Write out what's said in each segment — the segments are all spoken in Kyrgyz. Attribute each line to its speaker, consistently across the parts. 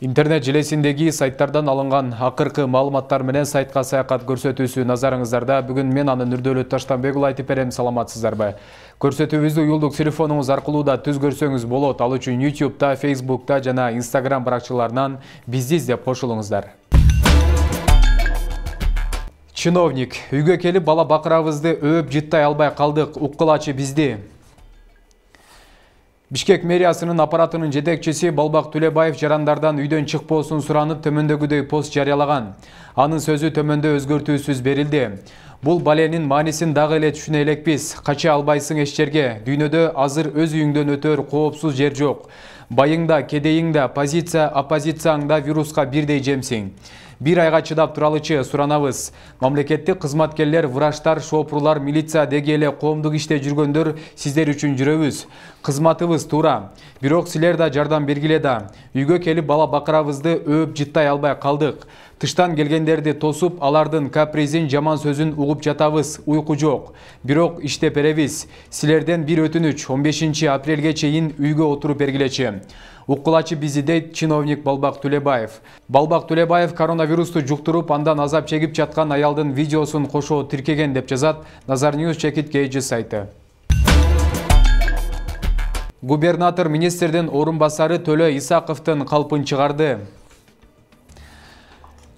Speaker 1: Интернет желесиндеги сайттардан алынган акыркы маалыматтар менен сайтка саякат көрсөтүүсү назарыңыздарда. Бүгүн мен аны Нурдөлөт Таштанбек айтып берем. Саламатсыздарбы? Көрсөтүүбүздү уюлдук телефонуңуз аркылуу да түз көрсөңүз болот. Ал үчүн YouTube'да, Facebook'та жана Instagram баракчаларынан бизди издеп кошулуңуздар. Чиновник: үйгө келип бала бакырабызды өөп жыттай албай калдык, уккулачы бизди. Бишкек мэриясынын аппаратынын жетекчиси Балбак Төлөбаев жарандардан үйдөн чыкпоосун суранып төмөндөгүдөй пост жарыялаган. Анын сөзү төмөндө өзгөртүүсүз берилди. Бул баленин маанисин дагы эле түшүнө элекпиз. Кача албайсың эч жерге. Дүйнөдө азыр өз үйүңдөн өтөр коопсуз жер жок. Байыңда, кедейиңда, позиция, оппозицияңда вируска бирдей жемсиң. Bir айга чыдап туралычы суранабыз. Мамлекеттик кызматкерлер, врачтар, шопурлар, милиция деги эле коомдук иште жүргөндөр сиздер үчүн жүрөбүз. Кызматыбыз туура. Бирок силер да жардам бергиле да. Үйгө келип бала бакырабызды өөп жыттай албай калдык. Тыштан келгендерди тосуп, алардын капризин, жаман сөзүн угуп жатабыз. Уйку жок. Бирок иштеп беребиз. Силерден бир өтүнүч 15 апрелге чейин үйгө отуруп бергилечи. Уккулачы бизди дейт чиновник Балбак Төлөбаев. Балбак Төлөбаев коронавирусту жуктуруп, андан азап чегип жаткан аялдын видеосун кошо тиркеген деп жазат Nazar News Chekit сайты. Губернатор министрдин орун басары Төлө Исаковдун калпын чыгарды.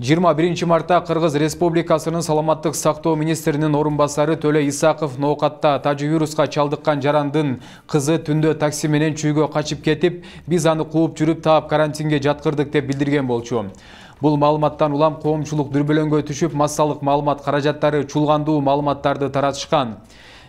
Speaker 1: 21 мартта Кыргыз Республикасынын саламаттык сактоо министринин орун басары Төлө Исаков ноокатта тажы-вируска чалдыккан жарандын кызы түндө такси менен чүйгө качып кетип, биз аны кууп жүрүп таап карантинге жаткырдык деп билдирген болчу. Бул маалыматтан улам коомчулук дүрбөлөңгө түшүп, массалык маалымат каражаттары чулгандуу маалыматтарды таратышкан.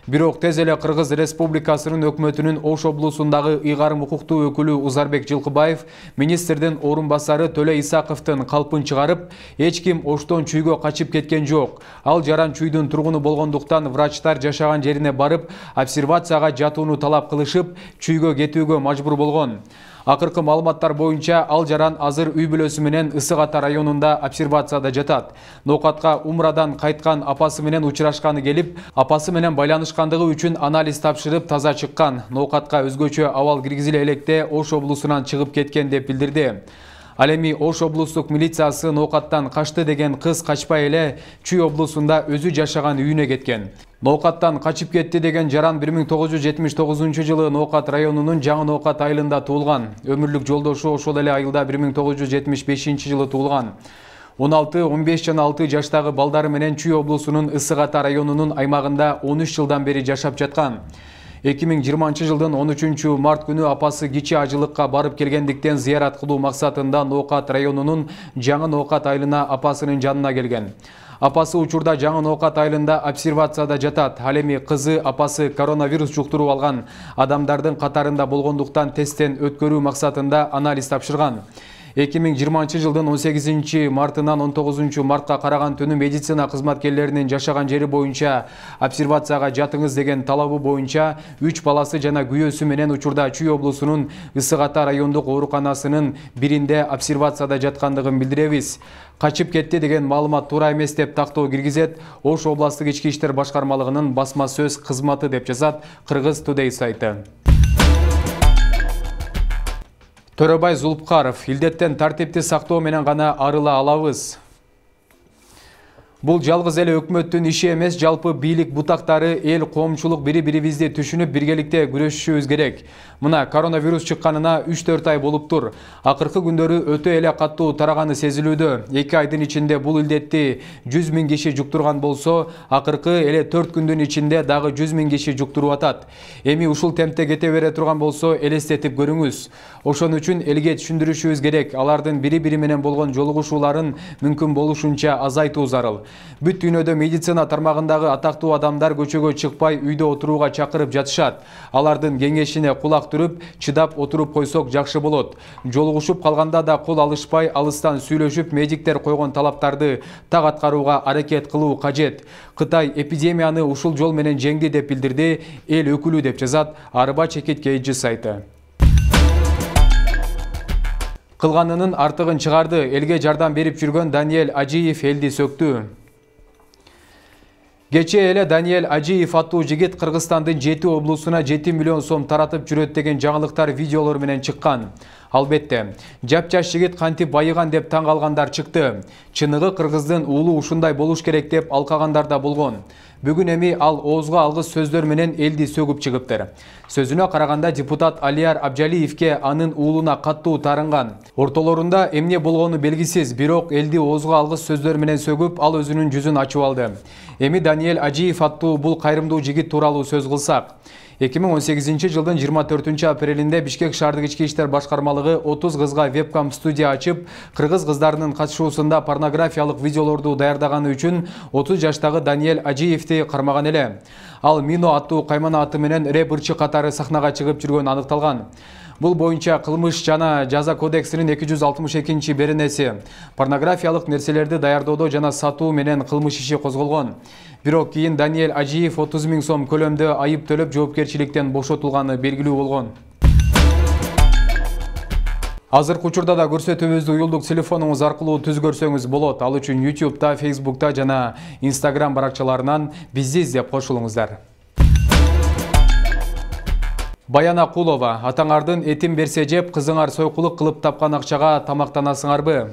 Speaker 1: Бирок тез эле Кыргыз Республикасынын өкмөтүнүн Ош облусундагы ыйгарым укуктуу өкүлү Узарбек Жылкыбаев министрдин орун басары Төлө Исаковдун калпын чыгарып, эч ким Оштон чүйгө качып кеткен жок. Ал жаран чүйдүн тургуну болгондуктан врачтар жашаган жерине барып, обсервацияга жатууну талап кылышып, чүйгө кетүүгө мажбур болгон. Акыркы маалыматтар боюнча ал жаран азыр үй бүлөсү менен Ысык Ата районунда обсервацияда жатат. Ноокатка Умрадан кайткан апасы менен учурашканы келип, апасы менен байланышкандыгы үчүн анализ тапшырып таза чыккан. Ноокатка өзгөчө абал киргизиле электе Ош облусунан чыгып кеткен деп билдирди. Ал эми Ош облустук милициясы ноокаттан качты деген кыз качпай эле Чүй облусунда өзү жашаган үйүнө кеткен. Ноокаттан качып кетти деген жаран 1979 жылы Ноокат районунун Жаңы Ноокат айылында туулган. Өмүрлүк жолдошу ошол эле айылда 1975 жылы туулган. 16-15 жана 6 жаштагы балдары менен Чүй облусунун Ысык Ата районунун аймагында 13 жылдан бери жашап жаткан. 2020 жылдын 13 март күнү апасы кичи ажылыкка барып келгендиктен зыярат кылуу максатында Ноокат районунун Жаңы Ноокат айылына апасынын жанына келген. Апасы учурда Жаңы Ноокат айылында обсервацияда жатат. Ал эми кызы апасы коронавирус жуктуруп алган адамдардын катарында болгондуктан тесттен өткөрүү максатында анализ тапшырган. 2020 жылдын 18 мартынан 19 мартка караган түнү медицина кызматкерлеринин жашаган жери боюнча обсервацияга жатыңыз деген талабы боюнча 3 баласы жана күйөөсү менен учурда Чүй облусунун Ысык Ата райондук ооруканасынын биринде обсервацияда жаткандыгын билдиребиз. Качып кетти деген маалымат туура эмес деп тактоо киргизет Ош областык ички иштер башкармалыгынын басма сөз кызматы деп жазат Кыргыз Today сайты. Төрөбай Зулпкаров: илдеттен тартипти сактоо менен гана арыла алабыз. Бул жалгыз эле өкмөттүн иши эмес, жалпы бийлик бутактары, эл, коомчулук бири-бирибизди түшүнүп биргеликте күрөшүшүбүз керек. Мына коронавирус чыкканына 3-4 ай болуптур. Акыркы күндөрү өтө эле каттуу тараганы сезилүүдө. 2 айдын ичинде бул илдетти 100 000 киши жуктурган болсо, акыркы эле 4 күндүн ичинде дагы 100 000 киши жуктуруп атат. Эми ушул темпте кете бере турган болсо, элестетип көрүңүз. Ошон үчүн элге түшүндүрүшүбүз керек. Алардын бири-бири менен болгон жолугушууларын мүмкүн болушунча азайтуу зарыл. Бүт дүйнөдө медицина тармагындагы атактуу адамдар көчөгө чыкпай үйдө отурууга чакырып жатышат. Алардын кеңешине кулак түрүп, чыдап отуруп койсок жакшы болот. Жолугушуп калганда да кол алышпай, алыстан сүйлөшүп, медиктер койгон талаптарды так аткарууга аракет кылуу кажет. Кытай эпидемияны ушул жол менен жеңди деп билдирди эл өкүлү деп жазат Арба Chekit сайты. Кылганынын артыгын чыгарды. Элге жардам берип жүргөн Даниэль Ажиев элди сөктү. Кече эле Даниэль Ажиев аттуу жигит Кыргызстандын 7 облусуна 7 миллион сом таратып жүрөт деген жаңылыктар видеолор менен чыккан. Албетте, жап-жаш жигит кантип байыган деп таң калгандар чыкты. Чыныгы кыргыздын уулу ушундай болуш керек деп алкагандар да болгон. Бүгүн эми ал оозго алгыс сөздөр менен элди сөгүп чыгыптыр. Сөзүнө караганда депутат Алияр Абжалиевке анын уулуна каттуу таарынган. Ортолорунда эмне болгону белгисиз, бирок элди оозго алгыс сөздөр менен сөгүп, ал өзүнүн жүзүн ачып алды. Эми Даниэль Ажиев аттуу бул кайрымдуу жигит тууралуу сөз кылсак. 2018 жылдын 24 апрелинде Бишкек шаардык ички иштер башкармалыгы 30 кызга вебкам студия ачып, кыргыз кыздарынын катышуусунда порнографиялык видеолорду даярдаганы үчүн 30 жаштагы Даниэль Ажиевти кармаган эле. Ал Мино аттуу каймана аты менен рэп ырчы катары сахнага чыгып жүргөнү аныкталган. Бул боюнча кылмыш жана жаза кодексинин 262 беренеси порнографиялык нерселерди даярдоодо жана сатуу менен кылмыш иши козголгон. Бирок кийин Даниэль Ажиев 30 000 сом көлөмдө айып төлөп жоопкерчиликтен бошотулганы белгилүү болгон. Азыркы учурда да көрсөтүүбүздү уюлдук телефонуңуз аркылуу түз көрсөңүз болот. Ал үчүн YouTube'да, Facebook'та жана Instagram баракчаларынан бизди издеп кошулуңуздар. Баяна Кулова, атаңардын этин берсе жеп, кызыңар сойкулук кылып тапкан акчага тамактанасыңарбы?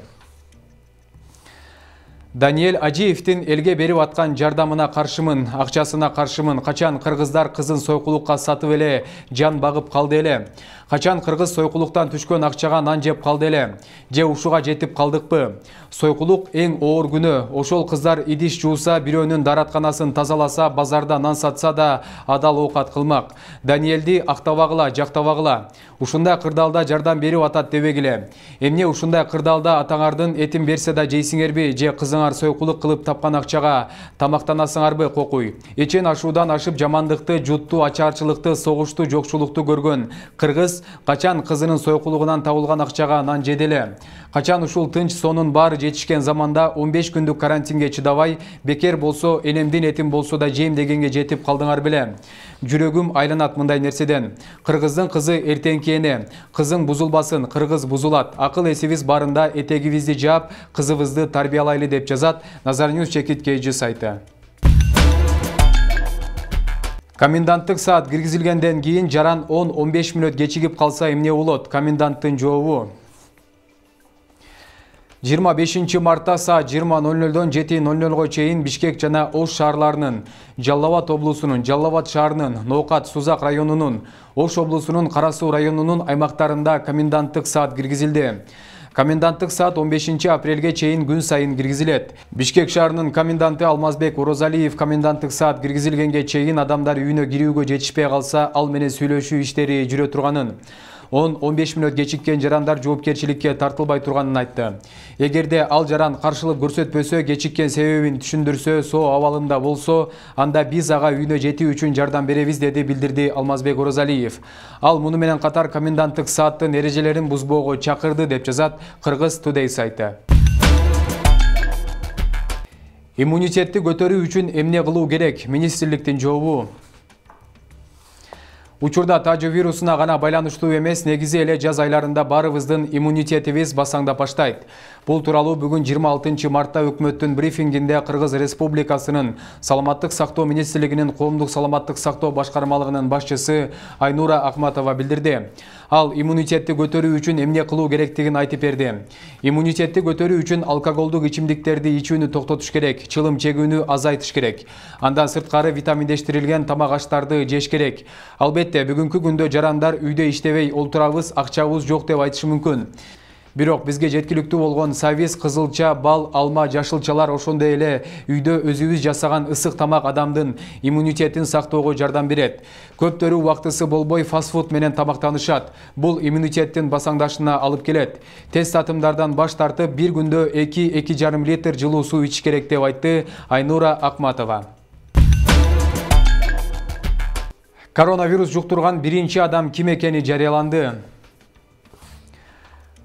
Speaker 1: Даниэль Ажиевтин элге берип аткан жардамына каршымын, акчасына каршымын. Качан кыргыздар кызын сойкулукка сатып эле жан багып калды эле? Качан кыргыз сойкулуктан түшкөн акчага нан жеп калды эле? Же ушуга жетип калдыкпы? Сойкулук эң оор күнөө. Ошол кыздар идиш жууса, бирөөнүн даратканасын тазаласа, базарда нан сатса да адал оокат кылмак. Даниэлди актабагыла, жактабагыла. Ушундай кырдаалда жардам берип атат дебегиле. Эмне ушундай кырдаалда атаңардын этин берсе да жейсиңерби, же кызыңар сойкулук кылып тапкан акчага тамактанасыңарбы кокуй? Эчен ашуудан ашып жамандыкты, жутту, ачарчылыкты, согушту, жокчулукту көргөн кыргыз качан кызынын сойкулугунан табылган акчага нан жеди эле? Качан ушул тынч сонун баары жетишкен заманда 15 күндүк карантинге чыдабай, бекер болсо энемдин этин болсо да жейм дегенге жетип калдыңар беле? Жүрөгүм айланат мындай нерседен. Кыргыздын кызы эртеңки эне. Кызың бузулбасын, кыргыз бузулат. Акыл эсибиз барында этегибизди жаап, кызыбызды тарбиялайлы деп жазат Назарньюз чекит KG сайты. Коменданттык саат киргизилгенден кийин жаран 10-15 мүнөт кечигип калса эмне болот? Коменданттын жообу. 25 мартта саат 20:00-дон 7:00 чейин Бишкек жана Ош шаарларынын, Жалал Абад облусунун, Жалал Абад шаарынын, Ноокат Сузак районунун, Ош облусунун Кара Суу районунун аймактарында коменданттык саат киргизилди. Коменданттык саат 15 апрелге чейин күн сайын киргизилет. Бишкек шаарынын коменданты Алмазбек Орозалиев коменданттык саат киргизилгенге чейин адамдар үйүнө кирүүгө жетишпей калса, ал менен сүйлөшүү иштери жүрө турганын, 10-15 мүнөт кечиккен жарандар жоопкерчиликке тартылбай турганын айтты. Эгерде ал жаран каршылык көрсөтпөсө, кечиккен себебин түшүндүрсө, соо абалында болсо, анда биз ага үйүнө жетүү үчүн жардам беребиз, деди билдирди Алмазбек Орозалиев. Ал муну менен катар коменданттык сааттын эрежелерин бузбоого чакырды деп жазат Кыргыз Today сайты. Иммунитетти көтөрүү үчүн эмне кылуу керек? Министрликтин жообу. Учурда тажы вирусуна гана байланыштуу эмес, негизи эле жаз айларында баарыбыздын иммунитетибиз басаңдап баштайт. Бул тууралуу бүгүн 26 мартта өкмөттүн брифингинде Кыргыз Республикасынын Саламаттык сактоо министрлигинин Коомдук саламаттык сактоо башкармалыгынын башчысы Айнура Акматова билдирди. Ал иммунитетти көтөрүү үчүн эмне кылуу керектигин айтып берди. Иммунитетти көтөрүү үчүн алкоголдук ичимдиктерди ичүүнү токтотуш керек, чылым чегүүнү азайтыш керек. Андан сырткары витаминдештирилген тамак аштарды жеш керек. Албетте, бүгүнкү күндө жарандар үйдө иштебей олтурабыз, акчабыз жок деп айтышы мүмкүн. Бирок бизге жеткиликтүү болгон сабиз, кызылча, бал, алма, жашылчалар, ошондой эле үйдө өзүбүз жасаган ысык тамак адамдын иммунитетин сактоого жардам берет. Көптөрү убактысы болбой фастфуд менен тамактанышат. Бул иммунитеттин басаңдашына алып келет. Тез татымдардан баш тартып, бир күндө 2-2,5 литр жылуу суу ичиш керек деп айтты Айнура Акматова. Коронавирус жуктурган биринчи адам ким экени жарыяланды.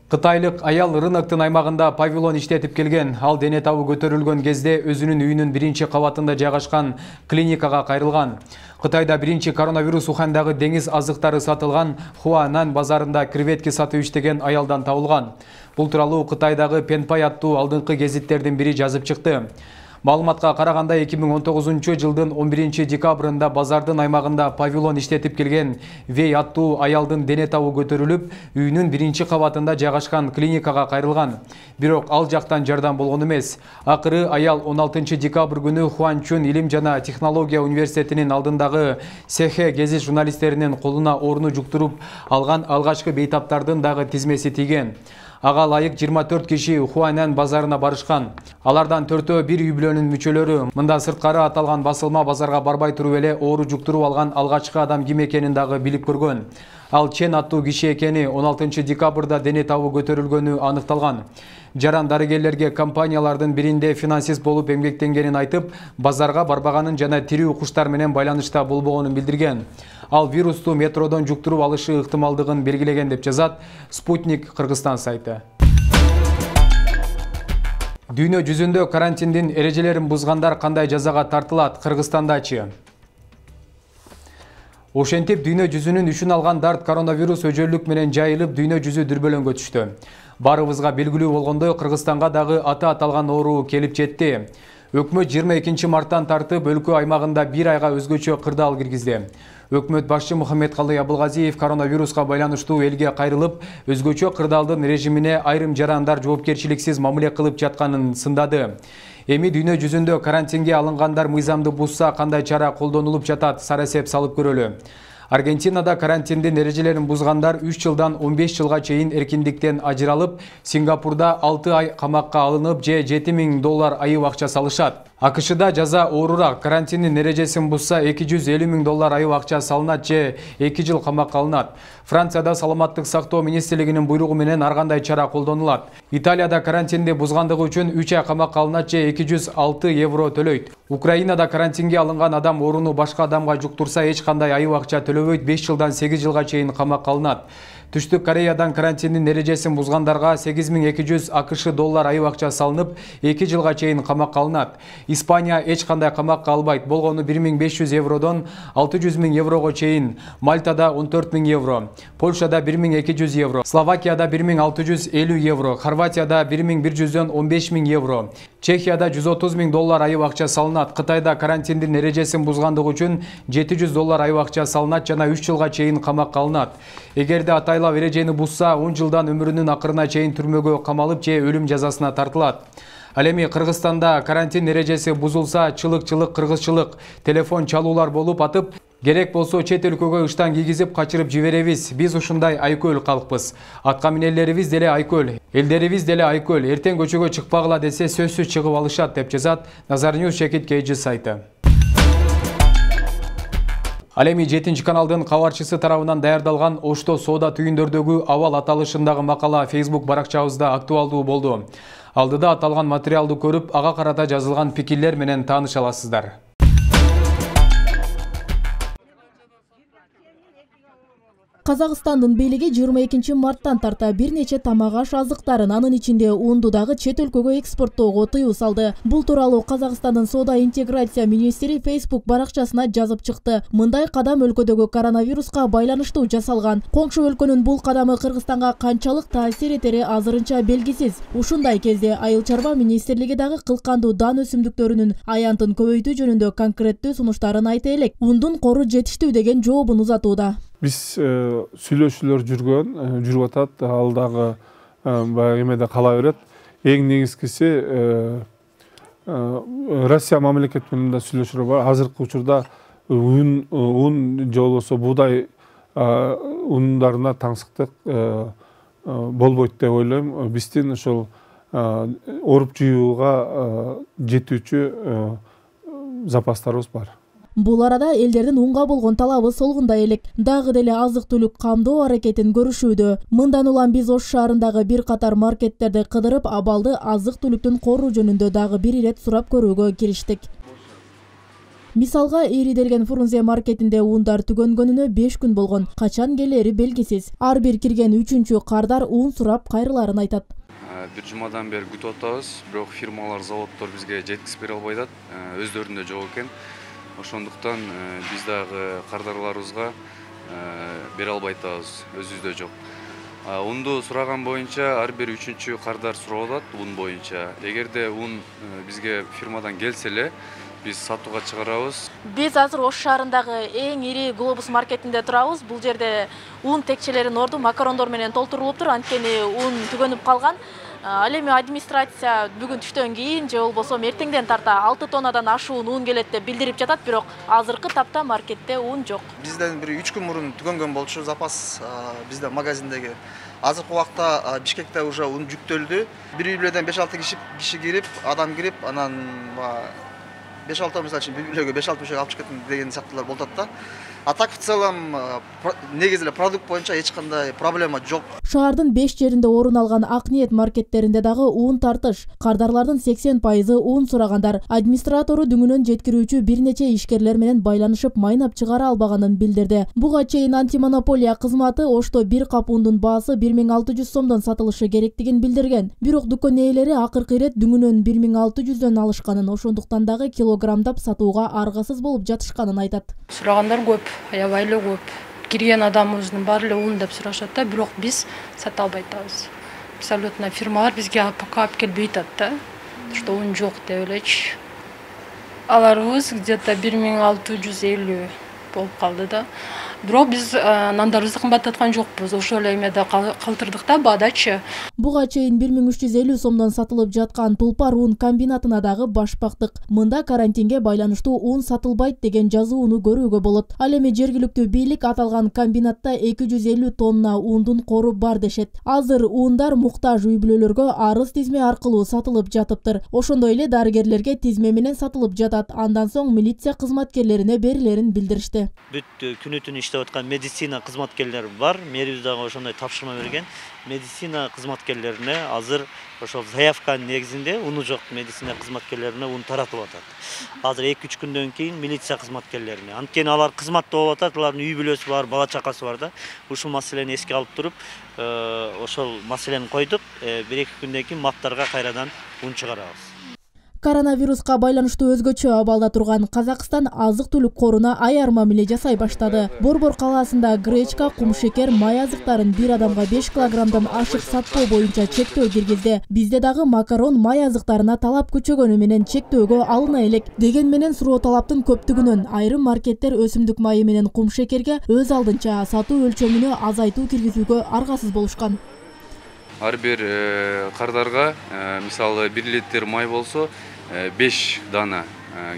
Speaker 1: Кытайлык аял рыноктун аймагында павильон иштетип келген. Ал дене табы көтөрүлгөн кезде өзүнүн үйүнүн биринчи кабатында жайгашкан клиникага кайрылган. Кытайда биринчи коронавирус Ухандагы деңиз азыктары сатылган Хуанан базарында креветки сатып иштеген аялдан табылган. Бул тууралуу Кытайдагы Пенпай аттуу алдыңкы гезиттердин бири жазып чыкты. Маалыматка караганда 2019 жылдын 11 декабрында базардын аймагында павильон иштетип келген Вей аттуу аялдын дене табы көтөрүлүп, үйүнүн 1-кабатында жайгашкан клиникага кайрылган. Бирок ал жактан жардам болгон эмес. Акыры аял 16 декабрь күнү Хуанчун Илим жана технология университетинин алдындагы Сехе гезит журналисттеринин колуна оорууну жуктуруп алган алгачкы бейтаптардын дагы тизмеси тийген. Ага ылайык 24 киши Хуанан базарына барышкан. Алардан 4-өө бир үй бүлөнүн мүчөлөрү. Мында сырткары аталган басылма базарга барбай туруп эле оору жуктуруп алган алгачкы адам ким экенин дагы билип көргөн. Ал Чен аттуу киши экени 16 декабрда дене табы көтөрүлгөнү аныкталган. Жаран дарыгерлерге компаниялардын биринде финансист болуп эмгектенгенин айтып, базарга барбаганын жана тирүү куштар менен байланышта болбогонун билдирген. Ал вирусту метродон жуктуруп алышы ыктымалдыгын белгилеген деп жазат Спутник Кыргызстан сайты. Дүйнө жүзүндө карантиндин эрежелерин бузгандар кандай жазага тартылат? Кыргызстандачы? Ошентип дүйнө жүзүнүн үшүн алган дарт коронавирус өжөлүк менен жайылып, дүйнө жүзү дүрбөлөңгө түштү. Барыбызга белгилүү болгондой, Кыргызстанга дагы аты аталган оору келип жетти. Өкмөт 22 марттан тартып өлкө аймагында 1 айга өзгөчө кырдаал киргизди. Өкмөт башчы Мухаммедкалый Абылгазиев коронавируска байланыштуу элге кайрылып, өзгөчө кырдаалдын режимине айрым жарандар жоопкерчиликсиз мамиле кылып жатканын сындады. Эми дүйнө жүзүндө карантинге алынгандар мыйзамды бузса кандай чара колдонулуп жатат, сара эсеп салып көрөлү. Аргентинада карантиндин эрежелерин бузгандар 3 жылдан 15 жылга чейин эркиндиктен ажыралып, Сингапурда 6 ай камакка алынып, же $7.000 айып акча салышат. АКШда жаза оорураак. Карантиндин эрежесин бузса $250.000 айып акча салынат же 2 жыл камакка алынат. Францияда саламаттык сактоо министрлигинин буйругу менен ар кандай чара колдонулат. Италияда карантинди бузгандыгы үчүн 3 ай камакка алынат же €206 төлөйт. Украинада карантинге алынган адам ооруну башка адамга жуктурса эч кандай айып акча төлөбөйт, 5 жылдан 8 жылга чейин камакка алынат. Түштүк Кореядан карантиндин эрежесин бузгандарга $8.200 айып акча салынып, 2 жылга чейин камакка алынат. Испания эч кандай камакка албайт, болгону €1.500 €600.000 чейин. Мальтада €14.000, Польшада €1.200, Словакияда €1.650, Хорватияда €1.100 €15.000, Чехияда $130.000 айып акча салынат. Кытайда карантиндин эрежесин бузгандыгы үчүн $700 айып акча салынат жана 3 жылга чейин камакка алынат. Эгерде атайлап эрежени бузса, 10 жылдан өмүрүнүн акырына чейин түрмөгө камалып же өлүм жазасына тартылат. Ал эми Кыргызстанда карантин эрежеси бузулса, чылык кыргызчылык, телефон чалуулар болуп атып, керек болсо чет өлкөгө ыштан кийгизип качырып жиберебиз. Биз ушундай айкөл калкпыз. Атка минелерибиз деле айкөл, элдерибиз деле айкөл. Эртең көчөгө чыкпагыла десе сөзсүз чыгып алышат деп жазат Назарньюз Шекит Кейджи сайты. Ал эми 7 каналдын кабарчысы тарабынан даярдалган Ошто соода түйүндөрдөгү абал аталышындагы макала Facebook баракчабызда актуалдуу болду. Алдыда аталган материалды көрүп, ага карата жазылган пикирлер менен тааныша аласыздар.
Speaker 2: Казакстандын бийлиги 22 марттан тарта бир нече тамак аш азыктарын, анын ичинде унду дагы чет өлкөгө экспорттоого тыюу салды. Бул тууралуу Казакстандын соода интеграция министри Facebook баракчасына жазып чыкты. Мындай кадам өлкөдөгү коронавируска байланыштуу жасалган. Коңшу өлкөнүн бул кадамы Кыргызстанга канчалык таасир этери азырынча белгисиз. Ушундай кезде Айыл чарба министрлиги дагы кылкандуу дан өсүмдүктөрүнүн аянтын көбөйтүү жөнүндө конкреттүү сунуштарын айта элек, ундун кору жетиштүү деген жообун узатууда.
Speaker 3: Биз сүйлөшүүлөр жүрүп атат, ал дагы баягы эмеде кала берет. Эң негизгиси Россия мамлекети менен да сүйлөшүүлөр бар. Азыркы учурда un же болбосо буудай ундарына таңсыктык болбойт деп ойлойм. Биздин ошол ооруп жүйүүгө жетүүчү запастарыбыз бар.
Speaker 2: Бул арада элдердин унга болгон талабы солгундай элек. Дагы деле азык-түлүк камдоо аракетин көрүшүүдө. Мындан улам биз Ош шаарындагы бир катар маркеттерди кыдырып, абалды азык-түлүктүн коруу жөнүндө дагы бир ирет сурап көрүүгө кириштик. Мисалга, Ириделген Фрунзе маркетинде ундар түгөнгөнүнө 5 күн болгон. Качан келери белгисиз. Ар бир кирген 3-чү кардар ун сурап кайрыларын айтат.
Speaker 4: Бир жумадан бери күтүп атабыз, бирок фирмалар, заводдор бизге жеткизип бере албай атат. Өздөрүндө жок экен. Ошондуктан биз дагы кардарларыбызга бере албай атабыз, өзүбүздө жок. Унду сураган боюнча ар бир 3-чү кардар сурап атат ун боюнча. Эгерде ун бизге фирмадан келсе эле биз сатууга чыгарабыз.
Speaker 2: Биз азыр Ош шаарындагы эң ири Глобус маркетинде турабыз. Бул жерде ун текчелеринин орду макарондор менен толтурулуптур, анткени ун түгөнүп калган. Ал эми администрация бүгүн түштөн кийин же болбосо эртеңден тарта 6 тоннадан ашуун ун келет деп билдирип жатат, бирок азыркы тапта маркетте ун жок.
Speaker 5: Бизден бир 3 күн мурун түгөнгөн болчу запас бизде магазиндеги. Азыркы убакта Бишкекте уже ун жүктөлдү. Бир үйлөдөн 5-6 киши кирип, адам кирип, анан 5-6 мисалы үчүн бир үйлөгө 5-6 бишек алып чыккан деген сыяктуулар болот да. А так в целом негизи эле продукт боюнча эч кандай проблема жок.
Speaker 2: Шаардын 5 жеринде орун алган Ак ниет маркеттеринде дагы ун тартыш. Кардарлардын 80% ун сурагандар. Администратору дүңүнөн жеткирүүчү бир нече ишкерлер менен байланышып майнап чыгара албаганын билдирди. Буга чейин антимонополия кызматы Ошто бир кап ундун баасы 1600 сомдон сатылышы керектигин билдирген. Бирок дүкөн ээлери акыркы ирет дүңүнөн 1600дөн алышканын, ошондуктан дагы килограммдап сатууга аргасыз болуп жатышканын айтат.
Speaker 6: Сурагандар көп, аябай эле көп. Кирген адамыбыздын баары эле ун деп сурашат да, бирок биз сата албай атабыз. Абсолютно фирмалар бизге пока алып келбей атат да, что ун жок деп элечи. Аларыбыз где-то 1650 болуп калды да. Бирок биз нандарыбызды кымбаттаткан жокпуз. Ошол эле эмеде калтырдык да баадачы.
Speaker 2: Буга чейин 1350 сомдон сатылып жаткан Тулпар ун комбинатына дагы баш бактык. Мында карантинге байланыштуу ун сатылбайт деген жазууну көрүүгө болот. Ал эми жергиликтүү бийлик аталган комбинатта 250 тонна ундун кору бар дешет. Азыр ундар муктаж үй-бүлөлөргө арыз тизме аркылуу сатылып жатыптыр. Ошондой эле дарыгерлерге тизме менен сатылып жатат. Андан соң милиция кызматкерлерине берилерин билдиришти.
Speaker 7: Бүт күнү-түнү иштеп аткан медицина кызматкерлери бар. Мэрибиз дагы ошондой тапшырма берген. Медицина кызматкерлерине азыр ошол заявканын негизинде уну жок медицина кызматкерлерине ун таратып атат. Азыр 2-3 күндөн кийин милиция кызматкерлерине. Анткени алар кызматта болуп атат, алардын үй-бүлөсү бар, бала чакасы бар да. Ушул маселени эске алып туруп, ошол маселени койдук. 1-2 күндөн кийин маптарга кайрадан ун чыгарабыз.
Speaker 2: Коронавируска байланыштуу өзгөчө абалда турган Казакстан азык-түлүк коруна аяр мамиле жасай баштады. Борбор калаасында гречка, кумшекер, май азыктарын бир адамга 5 килограммдан ашык сатпоо боюнча чектөө киргизди. Бизде дагы макарон, май азыктарына талап күчөгөнү менен чектөөгө алына элек. Деген менен суроо талаптын көптүгүнөн айрым маркеттер өсүмдүк майы менен кумшекерге өз алдынча сатуу өлчөмүнө азайтуу киргизүүгө аргасыз болушкан.
Speaker 4: Ар бир кардарга мисалы 1 литр май болсо 5 дана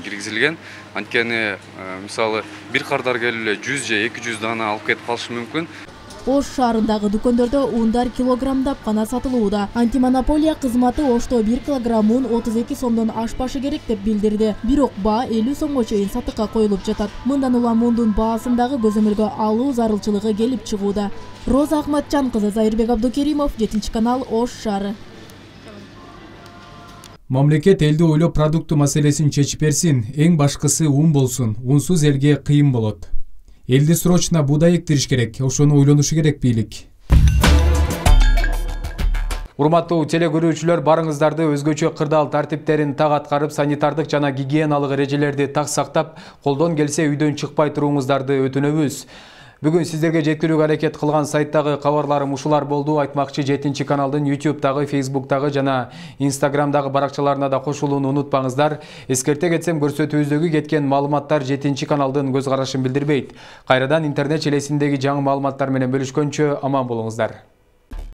Speaker 4: киргизилген. Анткени мисалы бир кардар келип эле 100 же 200 дана алып кетип калышы мүмкүн.
Speaker 2: Ош шаарындагы дүкөндөрдө ундар килограммдап гана сатылууда. Антимонополия кызматы Ошто 1 килограмм ун 32 сомдон ашпашы керек деп билдирди. Бирок баа 50 сомго чейин сатыкка коюлуп жатат. Мындан улам ундун баасындагы көзөмөлгө алуу зарылчылыгы келип чыгууда. Роза Ахматжан кызы, Зайырбек Абдукеримов, 7 канал, Ош шаары.
Speaker 1: Мамлекет элди ойлоп продукту маселесин чечип берсин, эң башкысы ун болсун. Унсуз элге кыйын болот. Элди срочно буудай эктириш керек, ошону ойлонушу керек бийлик. Урматтуу телекөрүүчүлөр, барыңыздарды өзгөчө кырдаал тартиптерин так аткарып, санитардык жана гигиеналык эрежелерди так сактап, колдон келсе үйдөн чыкпай туруңуздарды өтүнөбүз. Бүгүн сиздерге жеткирүүгө аракет кылган сайттагы кабарларым ушулар болду. Айтмакчы 7 каналдын YouTube'дагы, Facebook'тагы жана Instagram'дагы баракчаларына да кошулууну унутпаңыздар. Эскерте кетсем, көрсөтүүбүздөгү кеткен маалыматтар 7 каналдын көз карашын билдирбейт. Кайрадан интернет желесиндеги жаңы маалыматтар менен бөлүшкөнчө аман болуңуздар.